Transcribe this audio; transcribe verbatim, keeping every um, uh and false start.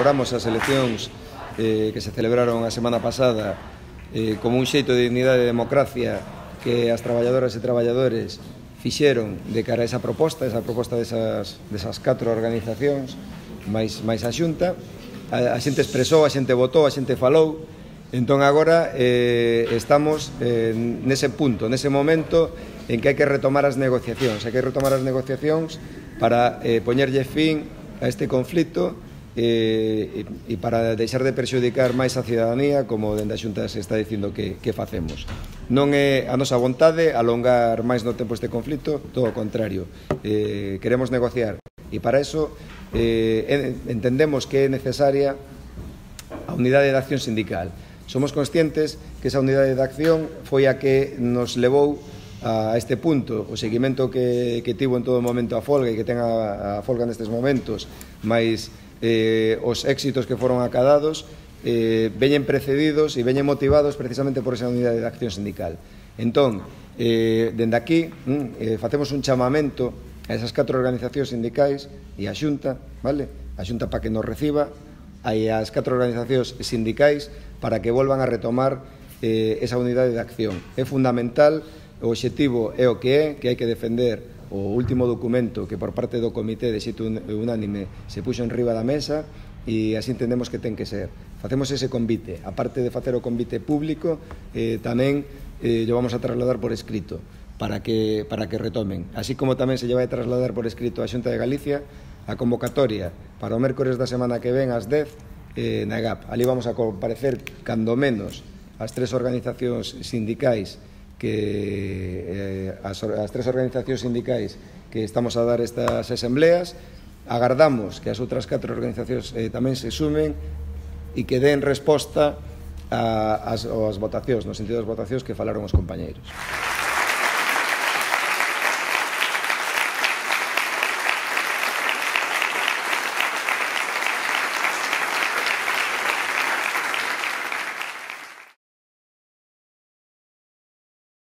valoramos as eleccións eh, que se celebraron a semana pasada eh, como un xeito de dignidade e democracia que as traballadoras e traballadores fixeron de cara a esa proposta, esa proposta desas, desas catro organizacións, máis, máis a Xunta. A, a xente expresou, a xente votou, a xente falou. Entón agora eh, estamos eh, nese punto, nese momento en que hai que retomar as negociacións, hai que retomar as negociacións para eh, poñerlle fin a este conflito eh, e, e para deixar de perxudicar máis a cidadanía, como dende a Xunta se está dicindo que, que facemos. Non é a nosa vontade alongar máis no tempo este conflito, todo o contrario, eh, queremos negociar e para eso eh, entendemos que é necesaria a unidade de acción sindical. Somos conscientes que esa unidade de acción foi a que nos levou a este punto, o seguimento que, que tivo en todo momento a folga e que ten a, a folga nestes momentos, máis eh, os éxitos que foron acadados, eh, veñen precedidos e veñen motivados precisamente por esa unidade de acción sindical. Entón, eh, dende aquí, eh, facemos un chamamento a esas catro organizacións sindicais e a Xunta, vale? A Xunta para que nos reciba, e as catro organizacións sindicais para que volvan a retomar eh, esa unidade de acción. É fundamental. O obxectivo é o que é, que hai que defender o último documento que por parte do Comité de xeito unánime se puxo en riba da mesa e así entendemos que ten que ser. Facemos ese convite, aparte de facer o convite público, eh, tamén eh, lo vamos a trasladar por escrito para que, para que retomen. Así como tamén se lle vai trasladar por escrito a Xunta de Galicia a convocatoria para o mércores da semana que ven ás dez eh, na E G A P. Ali vamos a comparecer cando menos as tres organizacións sindicais que eh, as, as tres organizacións sindicais que estamos a dar estas asambleas. Agardamos que as outras catro organizacións eh, tamén se sumen e que den resposta ás votacións, no sentido das votacións que falaron os compañeiros.